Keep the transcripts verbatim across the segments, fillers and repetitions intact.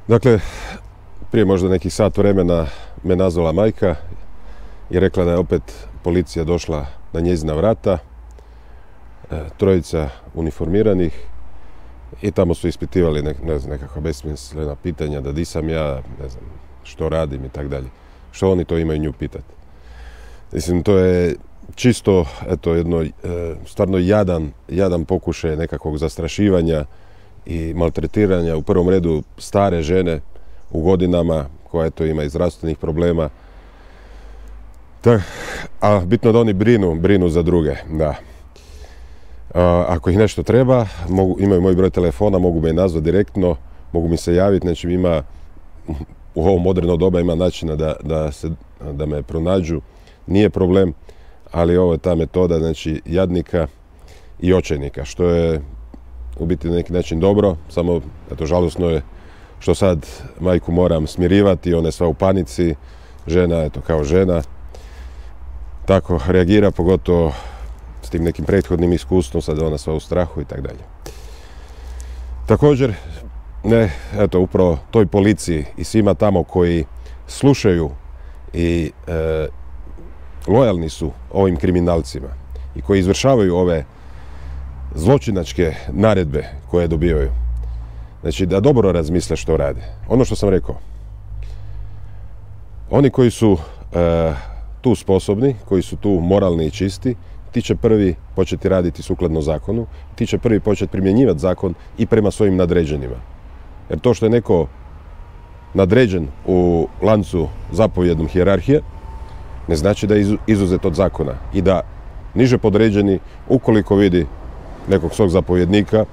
Dakle, prije možda nekih sat vremena me nazvala majka i rekla da je opet policija došla na njezina vrata, trojica uniformiranih, i tamo su ispitivali ne, ne znam, nekakva besmislena pitanja, da di sam ja, ne znam, što radim i tak dalje. Što oni to imaju nju pitati? Mislim, to je čisto, eto, jedno e, stvarno jadan, jadan pokušaj nekakvog zastrašivanja i maltretiranja, u prvom redu stare žene u godinama, koja eto ima i zdravstvenih problema. Tak, a bitno da oni brinu, brinu za druge, da. A, ako ih nešto treba, mogu, imaju moj broj telefona, mogu me nazvati direktno, mogu mi se javiti, znači ima, u ovo moderno doba ima načina da, da, se, da me pronađu, nije problem, ali ovo je ta metoda, znači, jadnika i očajnika, što je u biti na neki način dobro, samo, eto, žalosno je što sad majku moram smirivati, ona je sva u panici, žena, eto, kao žena, tako reagira, pogotovo s tim nekim prethodnim iskustvom, sad ona sva u strahu i tak dalje. Također, ne, eto, upravo toj policiji i svima tamo koji slušaju i e, lojalni su ovim kriminalcima i koji izvršavaju ove zločinačke naredbe koje dobivaju. Znači, da dobro razmisle što rade. Ono što sam rekao, oni koji su e, tu sposobni, koji su tu moralni i čisti, ti će prvi početi raditi sukladno zakonu, ti će prvi početi primjenjivati zakon i prema svojim nadređenima. Jer to što je neko nadređen u lancu zapovjednom hijerarhije, ne znači da je izuzet od zakona i da niže podređeni, ukoliko vidi nekog svog zapovjednika,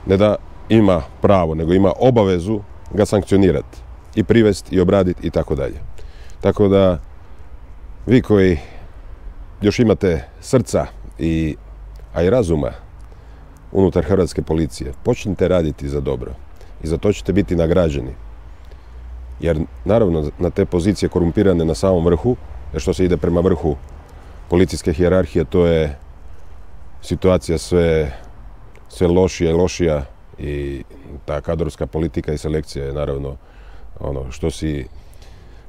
ne da ima pravo, nego ima obavezu ga sankcionirati i privesti i obraditi i tako dalje. Tako da vi koji još imate srca i, a i razuma unutar hrvatske policije, počnite raditi za dobro i za to ćete biti nagrađeni. Jer naravno na te pozicije korumpirane na samom vrhu, jer što se ide prema vrhu policijske hijerarhije, to je situacija sve, sve lošija i lošija i ta kadrovska politika i selekcija je naravno ono što si,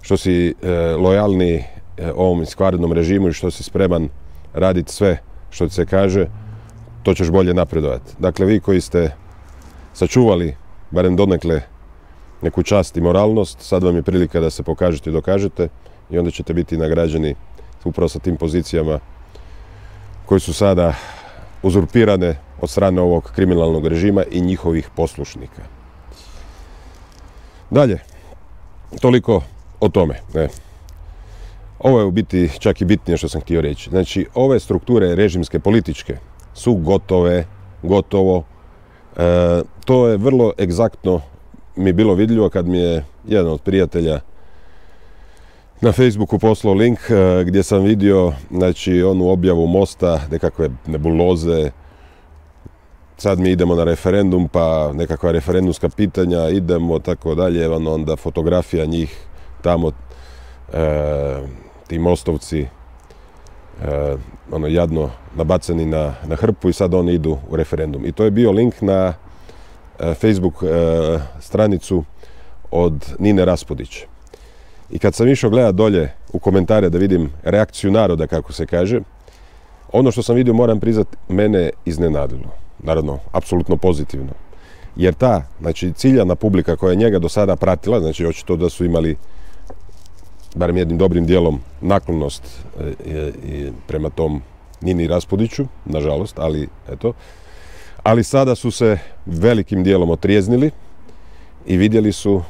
što si e, lojalni e, ovom iskvarenom režimu i što si spreman raditi sve što ti se kaže, to ćeš bolje napredovati. Dakle, vi koji ste sačuvali barem donekle neku čast i moralnost, sad vam je prilika da se pokažete i dokažete i onda ćete biti nagrađeni upravo sa tim pozicijama koji su sada uzurpirane od strane ovog kriminalnog režima i njihovih poslušnika. Dalje, toliko o tome. Ne. Ovo je u biti čak i bitnije što sam htio reći. Znači, ove strukture režimske, političke su gotove, gotovo. E, to je vrlo egzaktno mi bilo vidljivo kad mi je jedan od prijatelja na Facebooku poslao link e, gdje sam vidio, znači, onu objavu Mosta, nekakve nebuloze, sad mi idemo na referendum, pa nekakva referendumska pitanja, idemo, tako dalje, onda fotografija njih tamo, e, ti mostovci, e, ono, jadno nabacani na, na hrpu i sad oni idu u referendum. I to je bio link na e, Facebook e, stranicu od Nine Raspudić. I kad sam išao gledat dolje u komentare da vidim reakciju naroda, kako se kaže, ono što sam vidio, moram priznati, mene iznenadilo. Naravno, apsolutno pozitivno. Jer ta, znači, ciljana publika koja je njega do sada pratila, znači, očito da su imali barem jednim dobrim dijelom naklonost e, e, prema tom Nini Raspudiću, nažalost, ali eto. Ali sada su se velikim dijelom otrijeznili i vidjeli su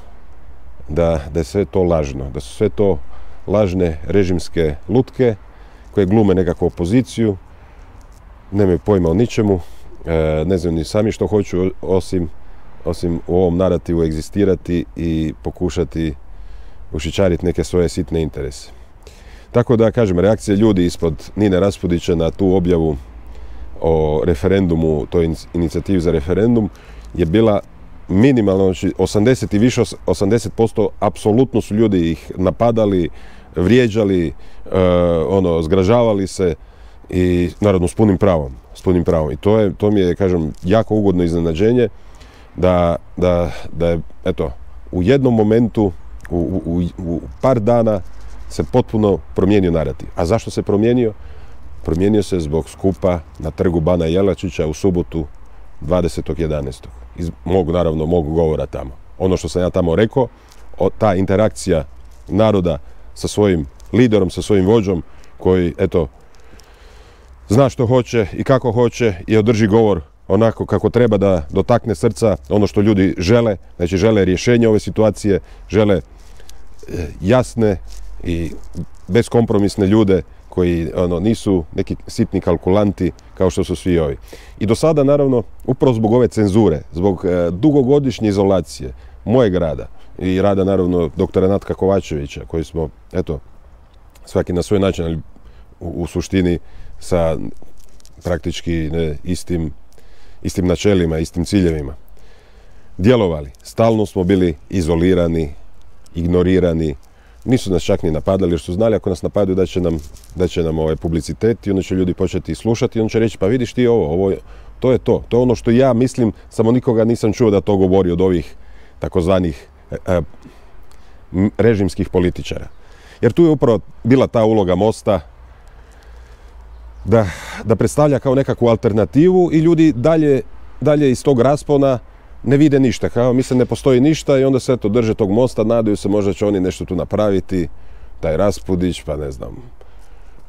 da, da je sve to lažno, da su sve to lažne režimske lutke koje glume nekakvu opoziciju, nemaju pojma o ničemu, e, ne znam ni sami što hoću osim, osim u ovom narativu egzistirati i pokušati ušićariti neke svoje sitne interese. Tako da, kažem, reakcija ljudi ispod Nine Raspudića na tu objavu o referendumu, toj inicijativi za referendum, je bila minimalno, znači osamdeset i više, osamdeset posto apsolutno su ljudi ih napadali, vrijeđali, e, ono, zgražavali se i naravno s punim pravom, s punim pravom. I to je, to mi je, kažem, jako ugodno iznenađenje, da, da, da je, eto, u jednom momentu, u, u, u par dana se potpuno promijenio narativ. A zašto se promijenio? Promijenio se zbog skupa na trgu Bana Jelačića u subotu dvadesetog jedanaestog Iz mog, naravno, mog govora tamo. Ono što sam ja tamo rekao, ta interakcija naroda sa svojim liderom, sa svojim vođom, koji, eto, zna što hoće i kako hoće i održi govor onako kako treba, da dotakne srca ono što ljudi žele. Znači, žele rješenje ove situacije, žele jasne i beskompromisne ljude koji ono, nisu neki sitni kalkulanti kao što su svi ovi. I do sada, naravno, upravo zbog ove cenzure, zbog e, dugogodišnje izolacije mojeg rada i rada, naravno, doktora Natka Kovačevića, koji smo, eto, svaki na svoj način, ali u, u suštini sa praktički ne, istim, istim načelima, istim ciljevima djelovali. Stalno smo bili izolirani, ignorirani. Nisu nas čak ni napadali jer su znali ako nas napadaju da će nam, da će nam ovaj publicitet i onda će ljudi početi slušati i on će reći pa vidiš ti ovo, ovo to je to. To je ono što ja mislim, samo nikoga nisam čuo da to govori od ovih takozvanih e, režimskih političara. Jer tu je upravo bila ta uloga Mosta da, da predstavlja kao nekakvu alternativu i ljudi dalje, dalje iz tog raspona ne vide ništa, kao misle ne postoji ništa i onda se eto drže tog Mosta, nadaju se možda će oni nešto tu napraviti, taj Raspudić, pa ne znam,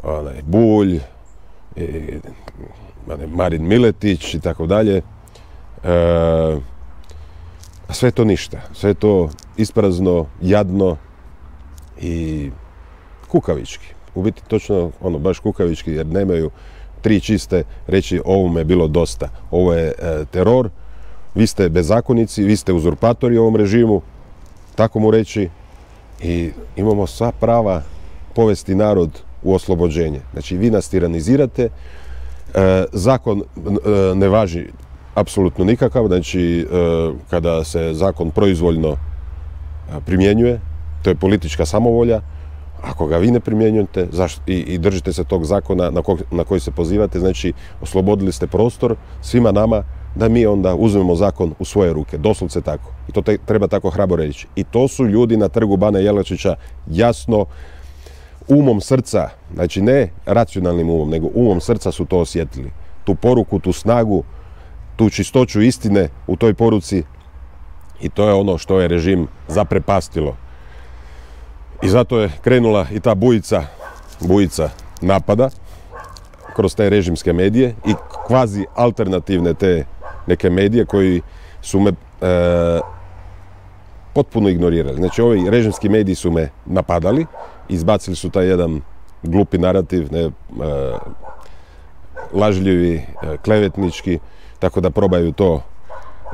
onaj Bulj, i, onaj Marin Miletić i tako dalje. E, a sve to ništa, sve to isprazno, jadno i kukavički. U biti točno ono baš kukavički jer nemaju tri čiste reći ovome je bilo dosta, ovo je e, teror. Vi ste bezakonici, vi ste uzurpatori u ovom režimu, tako mu reći, i imamo sva prava povesti narod u oslobođenje. Znači, vi nas tiranizirate, e, zakon e, ne važi apsolutno nikakav, znači, e, kada se zakon proizvoljno primjenjuje, to je politička samovolja, ako ga vi ne primjenjujete zašto, i, i držite se tog zakona na, ko, na koji se pozivate, znači, oslobodili ste prostor svima nama da mi onda uzmemo zakon u svoje ruke, doslovce tako. I to te, treba tako hrabro reći. I to su ljudi na trgu Bana Jelačića jasno, umom srca, znači ne racionalnim umom, nego umom srca su to osjetili. Tu poruku, tu snagu, tu čistoću istine u toj poruci i to je ono što je režim zaprepastilo. I zato je krenula i ta bujica, bujica napada kroz te režimske medije i kvazi alternativne te neke medije koji su me e, potpuno ignorirali. Znači, ovi režimski mediji su me napadali, izbacili su taj jedan glupi narativ, ne, e, lažljivi, e, klevetnički, tako da probaju to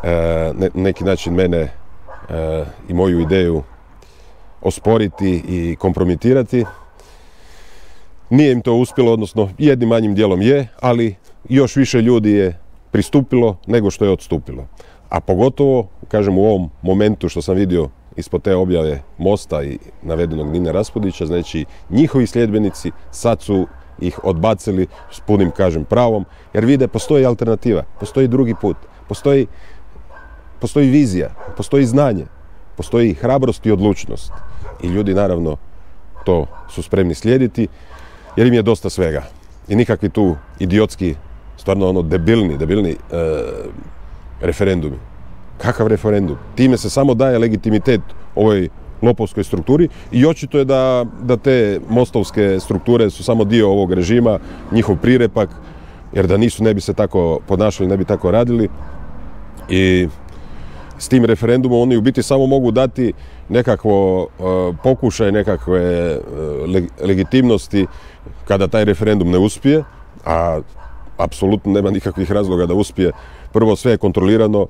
e, ne, neki način mene e, i moju ideju osporiti i kompromitirati. Nije im to uspjelo, odnosno jednim manjim dijelom je, ali još više ljudi je pristupilo nego što je odstupilo. A pogotovo, kažem, u ovom momentu što sam vidio ispod te objave Mosta i navedenog Nine Raspudića, znači njihovi sljedbenici sad su ih odbacili s punim, kažem, pravom, jer vide postoji alternativa, postoji drugi put, postoji, postoji vizija, postoji znanje, postoji hrabrost i odlučnost. I ljudi, naravno, to su spremni slijediti, jer im je dosta svega. I nikakvi tu idiotski, stvarno ono debilni, debilni e, referendumi. Kakav referendum? Time se samo daje legitimitet ovoj lopovskoj strukturi i očito je da, da te mostovske strukture su samo dio ovog režima, njihov prirepak, jer da nisu ne bi se tako ponašali, ne bi tako radili. I s tim referendumom oni u biti samo mogu dati nekakvo uh, pokušaj nekakve uh, leg legitimnosti kada taj referendum ne uspije, a apsolutno nema nikakvih razloga da uspije. Prvo, sve je kontrolirano, uh,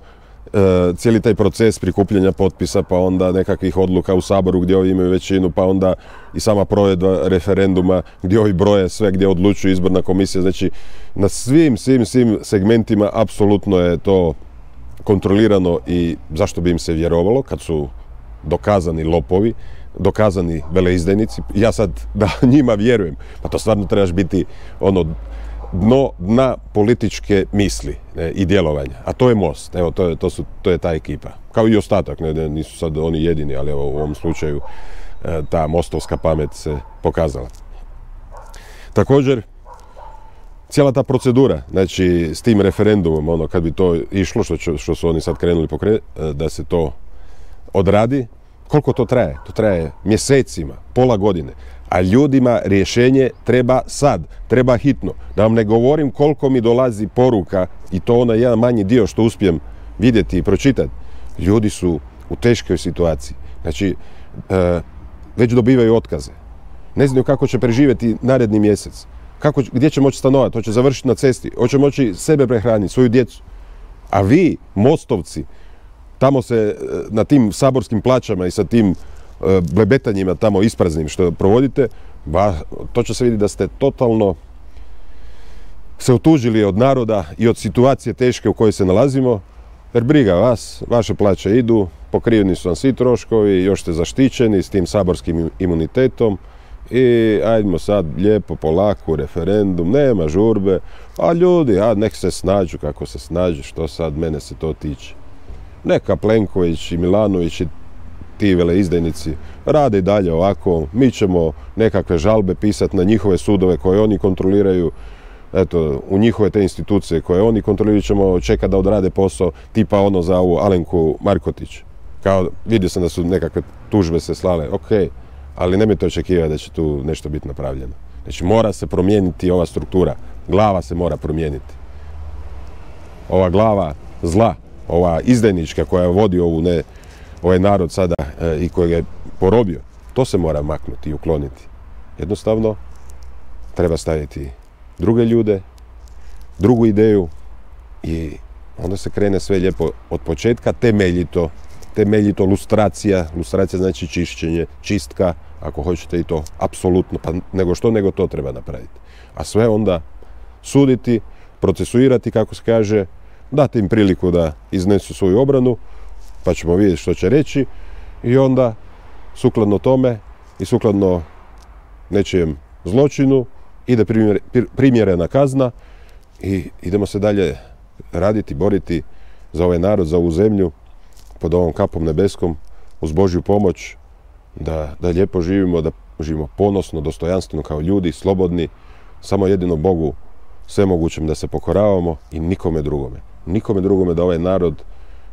cijeli taj proces prikupljanja potpisa, pa onda nekakvih odluka u Saboru gdje ovi imaju većinu, pa onda i sama provedba referenduma gdje ovi broje sve, gdje odlučuju izborna komisija. Znači, na svim, svim, svim segmentima apsolutno je to kontrolirano i zašto bi im se vjerovalo kad su dokazani lopovi, dokazani veleizdajnici. Ja sad da njima vjerujem, pa to stvarno trebaš biti ono dno dna političke misli ne, i djelovanja. A to je Most. Evo, to je, to su, to je ta ekipa. Kao i ostatak, ne, ne, nisu sad oni jedini, ali evo, u ovom slučaju e, ta mostovska pamet se pokazala. Također, cijela ta procedura, znači s tim referendumom, ono, kad bi to išlo, što, će, što su oni sad krenuli pokre, da se to odradi, koliko to traje? To traje mjesecima, pola godine. A ljudima rješenje treba sad, treba hitno. Da vam ne govorim koliko mi dolazi poruka, i to onaj jedan manji dio što uspijem vidjeti i pročitati. Ljudi su u teškoj situaciji. Znači, e, već dobivaju otkaze. Ne znaju kako će preživjeti naredni mjesec. Kako, gdje će moći stanovati? Hoće završiti na cesti? Hoće moći sebe prehraniti, svoju djecu? A vi, mostovci, tamo se na tim saborskim plaćama i sa tim blebetanjima tamo ispraznim što provodite, ba, to će se vidjeti da ste totalno se otužili od naroda i od situacije teške u kojoj se nalazimo, jer briga vas, vaše plaće idu, pokriveni su vam svi troškovi, još ste zaštićeni s tim saborskim imunitetom i ajdemo sad lijepo, polako, referendum, nema žurbe, a ljudi, a nek se snađu kako se snađu, što sad mene se to tiče. Neka Plenković i Milanović i ti veleizdajnici rade i dalje ovako, mi ćemo nekakve žalbe pisati na njihove sudove koje oni kontroliraju, eto, u njihove te institucije koje oni kontroliraju ćemo čekati da odrade posao, tipa ono za ovu Alenku Markotić. Kao, vidio sam da su nekakve tužbe se slale, ok, ali nemojte očekivati da će tu nešto biti napravljeno. Znači, mora se promijeniti ova struktura, glava se mora promijeniti. Ova glava zla, ova izdajnička koja vodi ovu ne, ovaj narod sada e, i kojeg je porobio, to se mora maknuti i ukloniti. Jednostavno, treba staviti druge ljude, drugu ideju i onda se krene sve lijepo od početka, temeljito, temeljito lustracija, lustracija znači čišćenje, čistka, ako hoćete i to, apsolutno, pa nego što, nego to treba napraviti. A sve onda suditi, procesuirati, kako se kaže, dati im priliku da iznesu svoju obranu, pa ćemo vidjeti što će reći i onda sukladno tome i sukladno nečijem zločinu ide primjerena kazna i idemo se dalje raditi, boriti za ovaj narod, za ovu zemlju pod ovom kapom nebeskom uz Božju pomoć da, da lijepo živimo, da živimo ponosno, dostojanstveno kao ljudi, slobodni, samo jedino Bogu svemogućem da se pokoravamo i nikome drugome. Nikome drugome da ovaj narod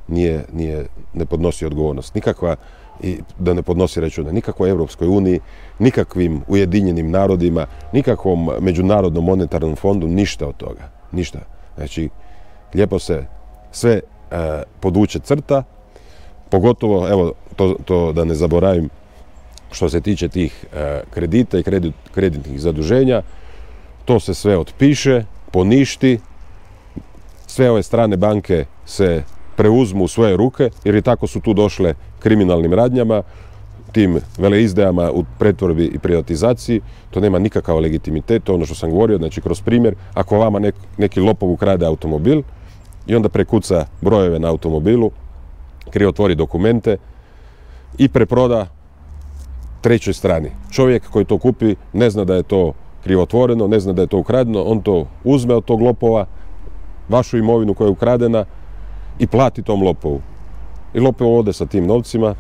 Nije, nije, ne podnosi odgovornost, nikakva, i da ne podnosi račune, nikakvoj Europskoj uniji, nikakvim Ujedinjenim narodima, nikakvom Međunarodnom monetarnom fondu, ništa od toga, ništa. Znači, lijepo se sve e, podvuče crta, pogotovo, evo, to, to da ne zaboravim, što se tiče tih e, kredita i kredit, kreditnih zaduženja, to se sve otpiše, poništi, sve ove strane banke se preuzmu u svoje ruke, jer i tako su tu došle kriminalnim radnjama, tim veleizdajama u pretvorbi i privatizaciji. To nema nikakav legitimitet, to ono što sam govorio, znači kroz primjer, ako vama nek, neki lopov ukrade automobil i onda prekuca brojeve na automobilu, krivotvori dokumente i preproda trećoj strani. Čovjek koji to kupi ne zna da je to krivotvoreno, ne zna da je to ukradeno, on to uzme od tog lopova, vašu imovinu koja je ukradena, i plati tom lopovu. I lopov ode sa tim novcima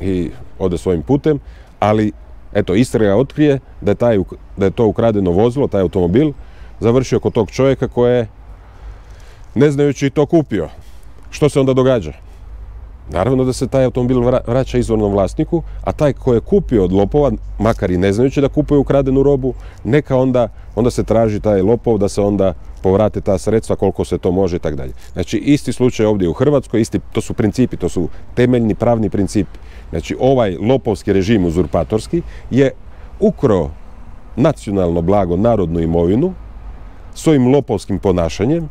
i ode svojim putem, ali eto, istraga otkrije da je, taj, da je to ukradeno vozilo, taj automobil, završio kod tog čovjeka koje je, ne znajući, to kupio. Što se onda događa? Naravno da se taj automobil vraća izvornom vlasniku, a taj ko je kupio od lopova, makar i ne znajući da kupuje ukradenu robu, neka onda, onda se traži taj lopov da se onda povrate ta sredstva koliko se to može i tako dalje. Znači, isti slučaj ovdje u Hrvatskoj, isti, to su principi, to su temeljni pravni principi. Znači, ovaj lopovski režim uzurpatorski je ukrao nacionalno blago, narodnu imovinu, svojim lopovskim ponašanjem,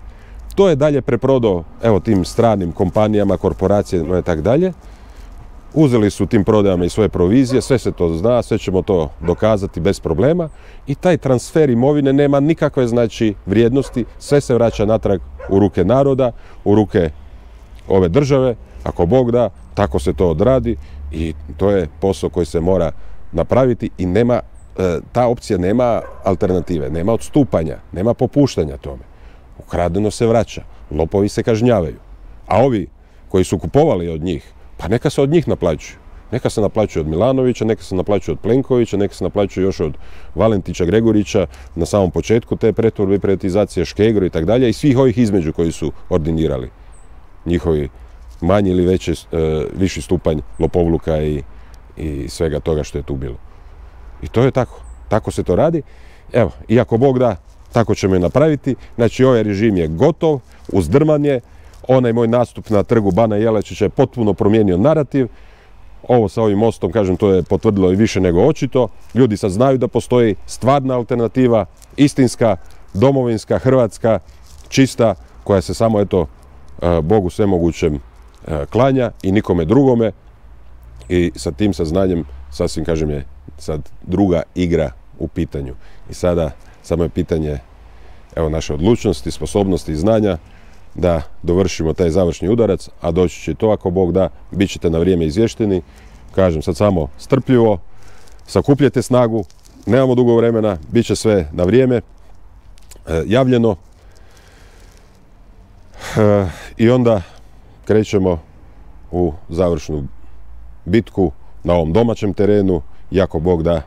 to je dalje preprodao, evo, tim stranim kompanijama, korporacijama i tako dalje. Uzeli su tim prodajama i svoje provizije, sve se to zna, sve ćemo to dokazati bez problema i taj transfer imovine nema nikakve, znači, vrijednosti, sve se vraća natrag u ruke naroda, u ruke ove države, ako Bog da, tako se to odradi i to je posao koji se mora napraviti i nema ta opcija nema alternative, nema odstupanja, nema popuštanja tome. Ukradeno se vraća, lopovi se kažnjavaju. A ovi koji su kupovali od njih, pa neka se od njih naplaćuju. Neka se naplaćuju od Milanovića, neka se naplaćuju od Plenkovića, neka se naplaćuju još od Valentića, Gregorića na samom početku te pretvorbe i privatizacije, Škegro i tako dalje, i svih ovih između koji su ordinirali njihovi manji ili veći, viši stupanj lopovluka i, i svega toga što je tu bilo. I to je tako. Tako se to radi. Evo, i ako Bog da, tako ćemo je napraviti. Znači, ovaj režim je gotov, uzdrman je. Onaj moj nastup na trgu Bana Jelačića je potpuno promijenio narativ. Ovo sa ovim mostom, kažem, to je potvrdilo i više nego očito. Ljudi sad znaju da postoji stvarna alternativa, istinska, domovinska, hrvatska, čista, koja se samo, eto, Bogu svemogućem klanja i nikome drugome. I sa tim saznanjem, sasvim, kažem, je sad druga igra u pitanju. I sada samo je pitanje, evo, naše odlučnosti, sposobnosti i znanja da dovršimo taj završni udarac, a doći će to ako Bog da, bit ćete na vrijeme izvješteni. Kažem sad samo strpljivo, sakupljajte snagu, nemamo dugo vremena, bit će sve na vrijeme, e, javljeno. E, I onda krećemo u završnu bitku na ovom domaćem terenu i ako Bog da,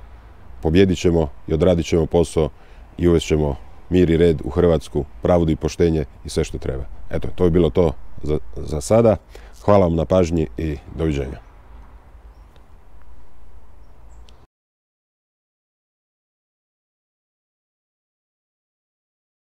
pobjedit ćemo i odradit ćemo posao i uvest ćemo mir i red u Hrvatsku, pravdu i poštenje i sve što treba. Eto, to je bilo to za, za sada. Hvala vam na pažnji i doviđenja.